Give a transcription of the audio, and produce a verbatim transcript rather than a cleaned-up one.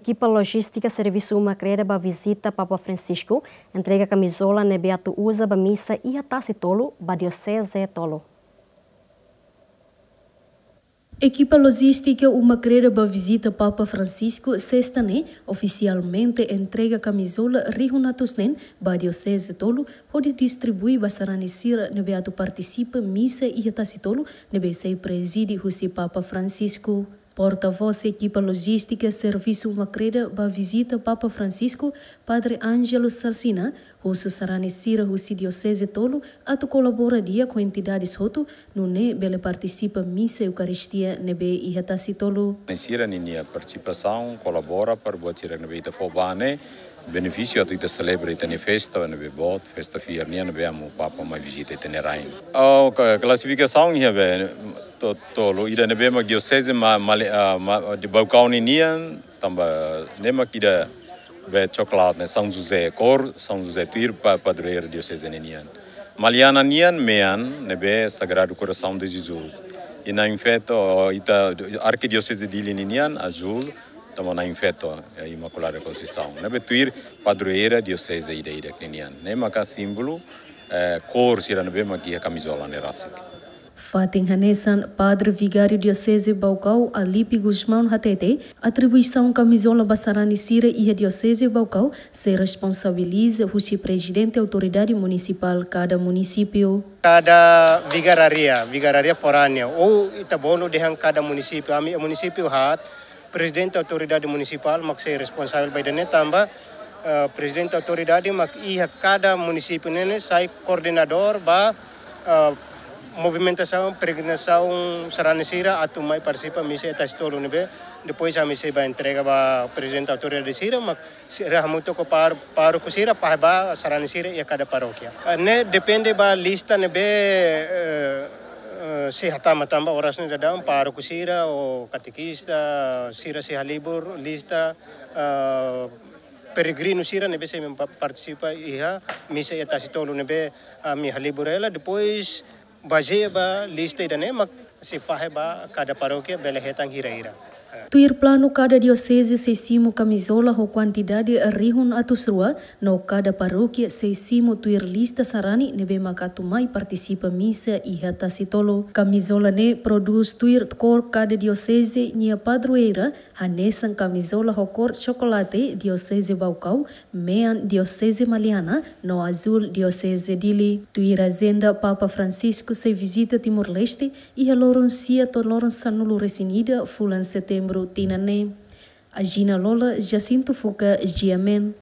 Ekipa lojístika Servisu Uma Kreda ba vizita Papa Francisco, entrega kamizola ne'ebé atu uza ba misa iha Tasitolu ba dioseze tolu. Ekipa lojístika Uma Kreda ba vizita Papa Francisco, sesta ne'e, ofisialmente entrega kamizola rihun atus neen ba dioseze tolu, hodi distribui ba sarani sira ne'ebé atu partisipa misa iha Tasitolu, ne'ebé sei prezide husi Papa Francisco. Portavós ekipa lojístika Servisu Uma Kreda ba vizita Papa Francisco, Padre Ângelo Salsina, husu sarani sira husi dioseze tolu atu kolabora di'ak ho entidades hotu, nune'e bele partisipa misa Eukaristia ne'ebé iha Tasitolu. Sira ninia partisipasaun kolabora para buat sira ne'ebé ita fó ba ne'e benefísiu atu ita selebra ita-nia festa ne'ebé boot, festa fiar nian ne'ebé amu Papa mai vizita ita-nia rain. Oh, ka-, klasifikasaun iha be to-, tolu, ida ne'ebé mak dioseze ma-, male-, ah, ma-, de Baucau ninian, tanba ne'e mak ida be coklat ne'e, São José, kór São José, tuir pa-, padroeira dioseze ninian. Maliana nian mean ne'ebé Sagrado Coração de Jesus. I na'in feto, ita arkidioseze Dili ninian, azúl, tanba na'in feto, eh, Imaculada Conceição. Ne'ebé tuir padroeira dioseze ida-idak ninian. Ne'e maka símbolu, eh, kór sira ne'ebé mak iha kamizola ne'e rasik. Fatin hanesan, Padre Vigáriu Dioseze Baucau, Alipe Gusmão hatete, atribuisaun kamizola ba sarani sira iha Dioseze Baucau sei responsabiliza husi Prezidente Autoridade Munisipál kada munisípiu. Kada vigarária, vigarária foránea, ou ita bolu dehan kada munisípiu, ami munisípiu haat, Prezidente Autoridade Munisipál mak sei responsavel ba ida-ne'e tanba, eh, Prezidente Autoridade mak iha kada munisípiu ne'e, ne'e sai koordenadór ba, eh, movimentasaun, peregrinasaun sarani sira atu mai partisipa misa iha Tasitolu ne'ebé, depois ami sei ba entrega ba Prezidente Autoridade sira, mak sira hamutuk ho pár-, pároku sira fahe ba sarani sira iha kada parókia. Eh, ne'e depende ba lista ne'ebé, eh, eh, sei hatama tanba oras ne'e daudaun pároku sira ou katekista sira sei halibur lista, eh, peregrinu sira ne'ebé sei pa-, partisipa iha misa iha Tasitolu ne'ebé ami halibur hela, depois bazeia ba lista ida-ne'e mak sei fahe ba kada parókia bele hetan hira-hira. Tuir planu, kada dioseze sei simu kamizola ho kuantidade rihun atus rua, no kada parókia sei simu tuir lista sarani ne'ebé mak atu mai partisipa misa iha Tasitolu. Kamizola ne'e prodús tuir kór kada dioseze nia padroeira, hanesan kamizola ho kór cokolate Dioseze Baucau, mean Dioseze Maliana, no azúl Dioseze Dili. Tuir ajenda, Papa Francisco sei vizita Timor-Leste iha loron sia to'o loron sanulu-resin-ida fulan Setembru tinan ne'e. Agina Lola, Jacinto Fuca, G M N.